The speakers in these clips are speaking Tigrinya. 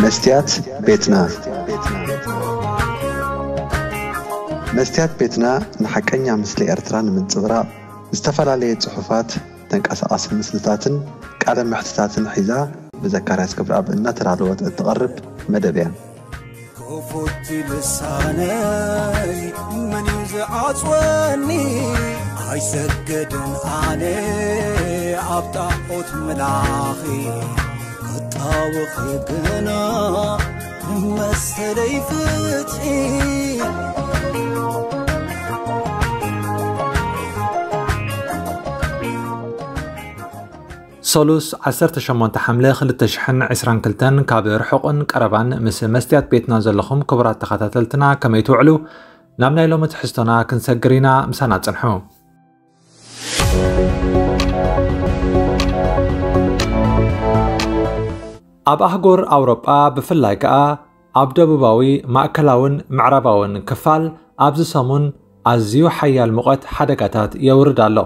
መስትያት ቤትና። መስትያት ቤትና ንሓቀኛ ምስሊ ኤርትራ ንምንጽብራቕ ዝተፈላለየ ጽሑፋት፣ ተንቀሳቓሲ ምስልታትን ቃለ መሕትታትን ሒዛ ብዘካርያስ ገብረኣብ እናተዳለወት እትቐርብ መደብ እያ። ክፉት ልሳነይ መን እዩ ዝዓጽወኒ? ኣይሰግድን ኣነ ኣብ ጣዖት ምላኺ፣ ክጣወኺ ግና መሰለይ ፍትሒ። ሰሉስ ዓሰርተ ሸሞንተ ሓምለ ክልተ ሽሕን ዕስራን ክልተን፣ ካብ ርሑቕን ቀረባን ምስ መስትያት ቤትና ዘለኹም ክቡራት ተኸታተልትና ከመይ ትውዕሉ? ናብ ናይ ሎሚ ትሕዝቶና ክንሰግር ኢና፣ ምሳና ጽንሑ። ኣብ ኣህጉር ኣውሮጳ ብፍላይ ከኣ ኣብ ደቡባዊ፣ ማእከላውን ምዕራባውን ክፋል ኣብዚ ሰሙን ኣዝዩ ሓያል ሙቐት ሓደጋታት የውርድ ኣሎ።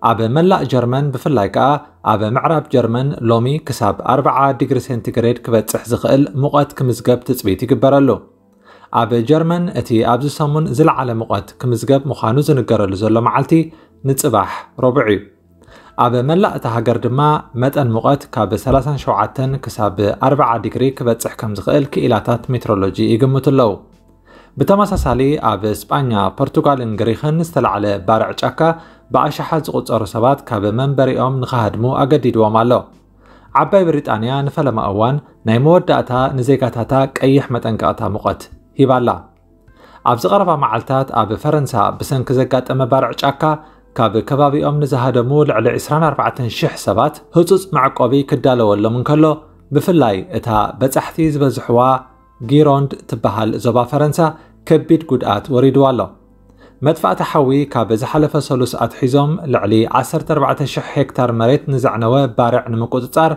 ኣብ መላእ ጀርመን ብፍላይ ከኣ ኣብ ምዕራብ ጀርመን ሎሚ ክሳብ ኣርብዓ ዲግሪ ሴንቲግሬድ ክበጽሕ ዝኽእል ሙቐት ክምዝገብ ትጽቢት ይግበረሉ። ኣብ ጀርመን እቲ ኣብዚ ሰሙን ዝለዓለ ሙቐት ክምዝገብ ምዃኑ ዝንገረሉ ዘሎ መዓልቲ ንጽባሕ ረቡዕ እዩ። ኣብ መላእ እታ ሃገር ድማ መጠን ሙቐት ካብ ሰላሳን ሸውዓተን ክሳብ ኣርብዓ ዲግሪ ክበጽሕ ከም ዝኽእል ክኢላታት ሜትሮሎጂ ይግምቱ ኣለዉ። ብተመሳሳሊ ኣብ ስጳኛ፣ ፖርቱጋልን ግሪኽን ዝተላዕለ ባርዕ ጫካ ብኣሽሓት ዝቑጸሩ ሰባት ካብ መንበሪኦም ንኽሃድሙ ኣገዲድዎም ኣሎ። ዓባይ ብሪጣንያ ንፈለማ እዋን ናይ መወዳእታ ንዜጋታታ ቀይሕ መጠንቀቕታ ሙቐት ሂባላ። ኣብዚ ቀረባ መዓልታት ኣብ ፈረንሳ ብሰንኪ ዘጋጠመ ባርዕ ጫካ ካብ ከባቢኦም ንዝሃደሙ ልዕሊ ዕስራን ኣርባዕተን ሽሕ ሰባት ህጹጽ መዕቆቢ ክዳለወሎም እንከሎ፣ ብፍላይ እታ በጻሕቲ ዝበዝሕዋ ጊሮንድ ትበሃል ዞባ ፈረንሳ ከቢድ ጉድኣት ወሪድዋ ኣሎ። መጥፋእቲ ሓዊ ካብ ዝሓለፈ ሰሉስ ኣትሒዞም ልዕሊ ዓሰርተ ኣርባዕተ ሽሕ ሄክታር መሬት ንዘዕነወ ባርዕ ንምቁጽጻር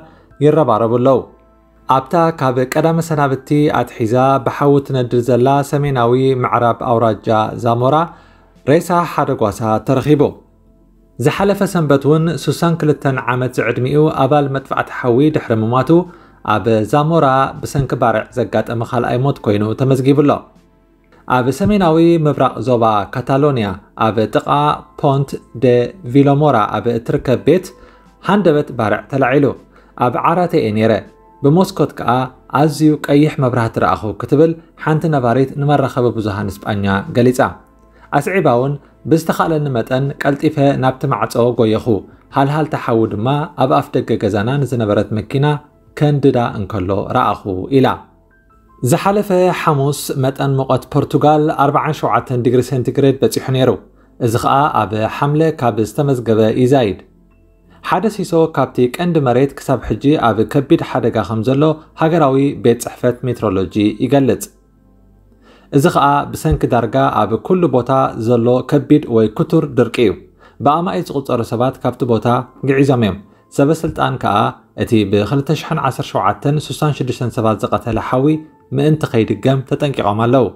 ይረባረቡ ኣለዉ። ኣብታ ካብ ቀዳመ ሰናብቲ ኣትሒዛ ብሓዊ ትነድድ ዘላ ሰሜናዊ ምዕራብ ኣውራጃ ዛሞራ ሬሳ ሓደ ጓሳ ተረኺቡ። ዝሓለፈ ሰንበት እውን ሱሳን ክልተን ዓመት ዝዕድሚኡ ኣባል መጥፋዕቲ ሓዊ ድሕሪ ምሟቱ ኣብ ዛሞራ ብሰንኪ ባርዕ ዘጋጠመ ካልኣይ ሞት ኮይኑ ተመዝጊቡ ኣሎ። ኣብ ሰሜናዊ ምብራቕ ዞባ ካታሎንያ ኣብ ጥቓ ፖንት ደ ቪሎሞራ ኣብ እትርከብ ቤት ሃንደበት ባርዕ ተላዒሉ። ኣብ ዓራተይ እየ ነይረ፣ ብመስኮት ከኣ ኣዝዩ ቀይሕ መብራህቲ ረኣኹ ክትብል ሓንቲ ነባሪት ንመራኸቢ ብዙሃን ስጳኛ ገሊጻ። ኣስዒባ እውን ብዝተኻእለኒ መጠን ቀልጢፈ ናብቲ ማዕጾ ጎየኹ፣ ሃልሃልታ ሓዊ ድማ ኣብ ኣፍ ደገ ገዛና ንዝነበረት መኪና ከንድዳ እንከሎ ረኣኹ ኢላ። ዝሓለፈ ሓሙስ መጠን ሙቐት ፖርቱጋል ኣርብዓን ሸውዓተን ዲግሪ ሴንቲግሬድ በጺሑ ነይሩ። እዚ ኸኣ ኣብ ሓምለ ካብ ዝተመዝገበ ይዛይድ። ሓደ ሲሶ ካብቲ ቀንዲ መሬት ክሳብ ሕጂ ኣብ ከቢድ ሓደጋ ከም ዘሎ ሃገራዊ ቤት ጽሕፈት ሜትሮሎጂ ይገልጽ። እዚ ኸኣ ብሰንኪ ዳርጋ ኣብ ኩሉ ቦታ ዘሎ ከቢድ ወይ ክቱር ድርቂ እዩ። ብኣማኢት ዝቑጸሩ ሰባት ካብቲ ቦታ ግዒዞም እዮም። ሰበ ስልጣን ከኣ እቲ ብ ክልተ ሽሕን ዓሰርተ ሸውዓተን ስሳን ሽዱሽተን ሰባት ዝቐተለ ሓዊ ምእንቲ ከይድገም ተጠንቂቖም ኣለዉ።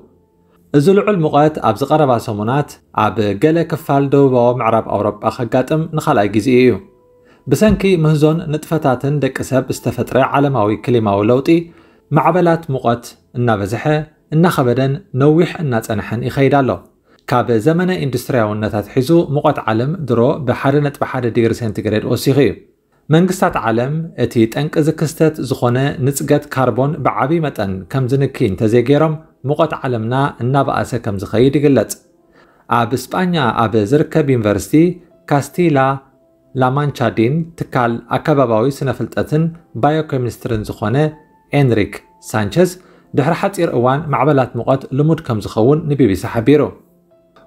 እዚ ልዑል ሙቐት ኣብዚ ቀረባ ሰሙናት ኣብ ገለ ክፋል ደቡባዊ ምዕራብ ኣውሮጳ ከጋጥም ንኻልኣይ ግዜኡ እዩ። ብሰንኪ ምህዞን ንጥፈታትን ደቂ ሰብ ዝተፈጥረ ዓለማዊ ክሊማዊ ለውጢ፣ ማዕበላት ሙቐት እናበዝሐ፣ እናኸበደን ነዊሕ እናጸንሐን ይኸይድ ኣሎ። ካብ ዘመነ ኢንዱስትርያውነት ኣትሒዙ ሙቐት ዓለም ድሮ ብ ሓደ ነጥቢ ሓደ ዲግሪ ሴንቲግሬድ ወሲኹ እዩ። መንግስታት ዓለም እቲ ጠንቂ እዚ ክስተት ዝኾነ ንጽገት ካርቦን ብዓቢ መጠን ከም ዝንኪ እንተዘይገይሮም፣ ሙቐት ዓለምና እናበኣሰ ከም ዝኸይድ ይግለጽ። ኣብ ስጳኛ ኣብ ዝርከብ ዩኒቨርሲቲ ካስቲላ ላማንቻ ዲን ትካል ኣከባባዊ ስነ-ፍልጠትን ባዮኬሚስትሪን ዝኾነ ኤንሪክ ሳንቸዝ፣ ድሕሪ ሓጺር እዋን ማዕበላት ሙቐት ልሙድ ከም ዝኸውን ንቢቢሲ ሓቢሩ።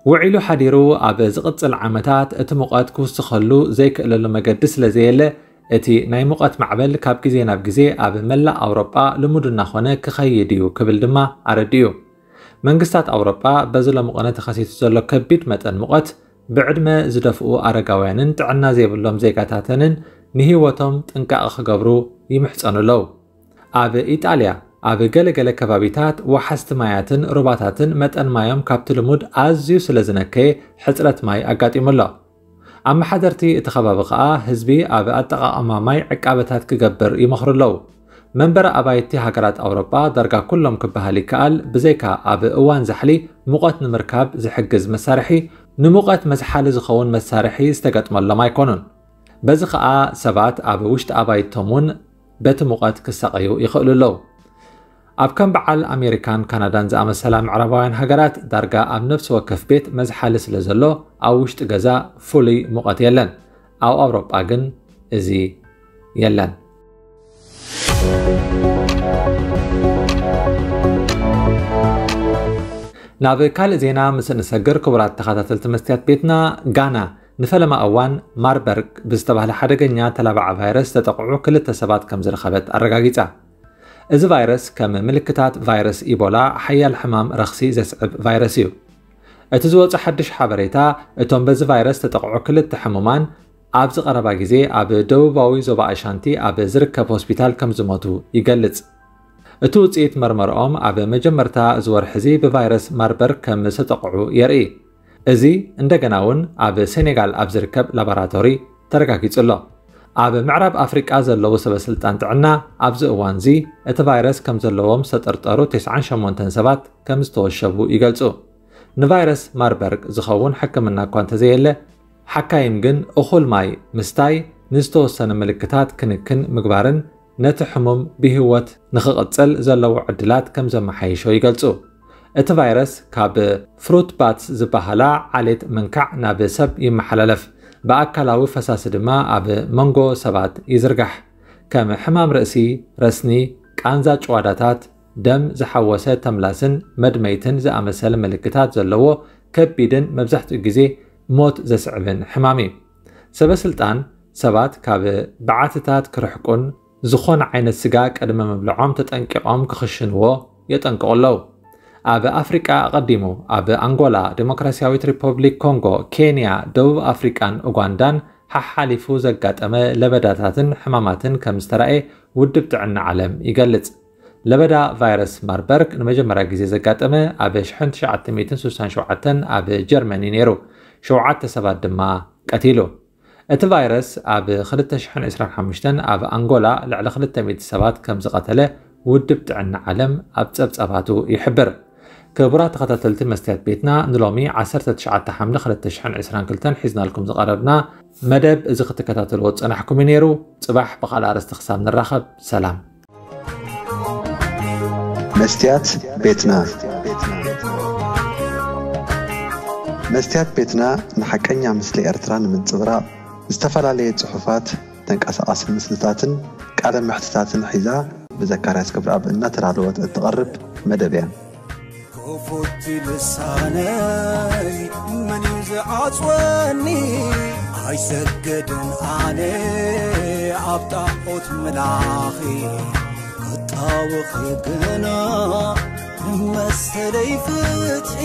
ውዒሉ ሓዲሩ ኣብ ዝቕጽል ዓመታት እቲ ሙቐት ክውስኸሉ ዘይክእለሉ መገዲ ስለ ዘየለ፣ እቲ ናይ ሙቐት ማዕበል ካብ ግዜ ናብ ግዜ ኣብ መላእ ኣውሮጳ ልሙድ እናኾነ ክኸይድ እዩ ክብል ድማ ኣረዲኡ። መንግስታት ኣውሮጳ በዚ ሎሚ ቕነ ተኸሲቱ ዘሎ ከቢድ መጠን ሙቐት ብዕድመ ዝደፍኡ ኣረጋውያንን ጥዕና ዘይብሎም ዜጋታተንን ንህይወቶም ጥንቃቐ ክገብሩ ይምሕጸኑ ኣለዉ። ኣብ ኢጣልያ፣ ኣብ ገለ ገለ ከባቢታት ወሓዝቲ ማያትን ሩባታትን መጠን ማዮም ካብቲ ልሙድ ኣዝዩ ስለ ዝነከየ ሕጽረት ማይ ኣጋጢሙ ኣሎ። ኣመሓደርቲ እቲ ከባቢ ከኣ ህዝቢ ኣብ ኣጠቓቕማ ማይ ዕቃበታት ክገብር ይመኽሩ ኣለዉ። መንበሪ ኣባይቲ ሃገራት ኣውሮጳ ዳርጋ ኩሎም ክበሃል ይከኣል፣ ብዘይካ ኣብ እዋን ዛሕሊ ሙቐት ንምርካብ ዝሕግዝ መሳርሒ፣ ንሙቐት መዝሓሊ ዝኸውን መሳርሒ ዝተገጥመሎም ኣይኮኑን። በዚ ኸኣ ሰባት ኣብ ውሽጢ ኣባይቶም እውን በቲ ሙቐት ክሳቐዩ ይኽእሉ ኣለዉ። ኣብ ከም በዓል ኣሜሪካን ካናዳን ዝኣመሰላ ምዕራባውያን ሃገራት ዳርጋ ኣብ ነፍሲ ወከፍ ቤት መዝሓሊ ስለ ዘሎ ኣብ ውሽጢ ገዛ ፍሉይ ሙቐት የለን። ኣብ ኣውሮጳ ግን እዚ የለን። ናብ ካልእ ዜና ምስ እንሰግር፣ ክቡራት ተኸታተልቲ መስትያት ቤትና፣ ጋና ንፈለማ እዋን ማርበርግ ብዝተባህለ ሓደገኛ ተላባዒ ቫይረስ ዝተጠቕዑ ክልተ ሰባት ከም ዝረኸበት ኣረጋጊጻ። እዚ ቫይረስ ከም ምልክታት ቫይረስ ኢቦላ ሓያል ሕማም ረኽሲ ዘስዕብ ቫይረስ እዩ። እቲ ዝወጸ ሓድሽ ሓበሬታ፣ እቶም በዚ ቫይረስ ዝተጠቕዑ ክልተ ሕሙማን ኣብዚ ቀረባ ግዜ ኣብ ደቡባዊ ዞባ ኣሻንቲ ኣብ ዝርከብ ሆስፒታል ከም ዝሞቱ ይገልጽ። እቲ ውጽኢት መርመርኦም ኣብ መጀመርታ እዚ ወርሒ እዚ ብቫይረስ ማርበርግ ከም ዝተጠቕዑ የርኢ። እዚ እንደገና እውን ኣብ ሴኔጋል ኣብ ዝርከብ ላቦራቶሪ ተረጋጊጹ ኣሎ። ኣብ ምዕራብ ኣፍሪቃ ዘለዉ ሰበ ስልጣን ጥዕና ኣብዚ እዋን እዚ እቲ ቫይረስ ከም ዘለዎም ዝተጠርጠሩ ተስዓን ሸሞንተን ሰባት ከም ዝተወሸቡ ይገልጹ። ንቫይረስ ማርበርግ ዝኸውን ሕክምና እኳ እንተዘየለ፣ ሓካይም ግን እኹል ማይ ምስታይ፣ ንዝተወሰነ ምልክታት ክንክን ምግባርን ነቲ ሕሙም ብህይወት ንኽቕጽል ዘለዎ ዕድላት ከም ዘመሓይሾ ይገልጹ። እቲ ቫይረስ ካብ ፍሩት ባትስ ዝበሃላ ዓሌት ምንካዕ ናብ ሰብ ይመሓላለፍ። ብኣካላዊ ፈሳሲ ድማ ኣብ መንጎ ሰባት ይዝርጋሕ። ከም ሕማም ርእሲ፣ ረስኒ፣ ቃንዛ ጭዋዳታት፣ ደም ዝሓወሰ ተምላስን መድመይትን ዝኣመሰለ ምልክታት ዘለዎ ከቢድን መብዛሕትኡ ግዜ ሞት ዘስዕብን ሕማም እዩ። ሰበ ስልጣን ሰባት ካብ በዓትታት ክርሕቁን ዝኾነ ዓይነት ስጋ ቅድሚ ምብልዖም ተጠንቂቖም ክኽሽንዎ የጠንቅቑ ኣለዉ። ኣብ ኣፍሪቃ ኣቐዲሙ ኣብ ኣንጎላ፣ ዲሞክራሲያዊት ሪፐብሊክ ኮንጎ፣ ኬንያ፣ ደቡብ ኣፍሪቃን ኡጋንዳን ሓሓሊፉ ዘጋጠመ ለበዳታትን ሕማማትን ከም ዝተራእየ ውድብ ጥዕና ዓለም ይገልጽ። ለበዳ ቫይረስ ማርበርግ ንመጀመርያ ግዜ ዘጋጠመ ኣብ ሽሕን ትሽዓተ ሚእትን ስሳን ሸውዓተን ኣብ ጀርመን እዩ ነይሩ። ሸውዓተ ሰባት ድማ ቀቲሉ። እቲ ቫይረስ ኣብ ክልተ ሽሕን ዕስራን ሓሙሽተን ኣብ ኣንጎላ ልዕሊ ክልተ ሚእቲ ሰባት ከም ዝቐተለ ውድብ ጥዕና ዓለም ኣብ ጸብጻባቱ ይሕብር። ክቡራት ተኸታተልቲ መስትያት ቤትና፣ ንሎሚ ዓሰርተ ትሽዓተ ሓምለ ክልተ ሽሕን ዕስራን ክልተን ሒዝናልኩም ዝቐረብና መደብ እዚ ክትከታተልዎ ዝጸናሕኩም እዩ ነይሩ። ጽባሕ ብኻልእ ኣርእስቲ ክሳብ ንራኸብ፣ ሰላም። መስትያት ቤትና። መስትያት ቤትና ንሓቀኛ ምስሊ ኤርትራ ንምንጽብራቕ፣ ዝተፈላለየ ጽሑፋት፣ ተንቀሳቓሲ ምስልታትን ቃለ መሕትታትን ሒዛ ብዘካርያስ ክብረኣብ እናተዳለወት እትቐርብ መደብ እያ። ክፉት ልሳነይ መን እዩ ዝዓጽወኒ? ኣይሰግድን ኣነ ኣብ ጣዖት ምላኺ፣ ክጣወኺ ግና ንመሰለይ ፍትሒ።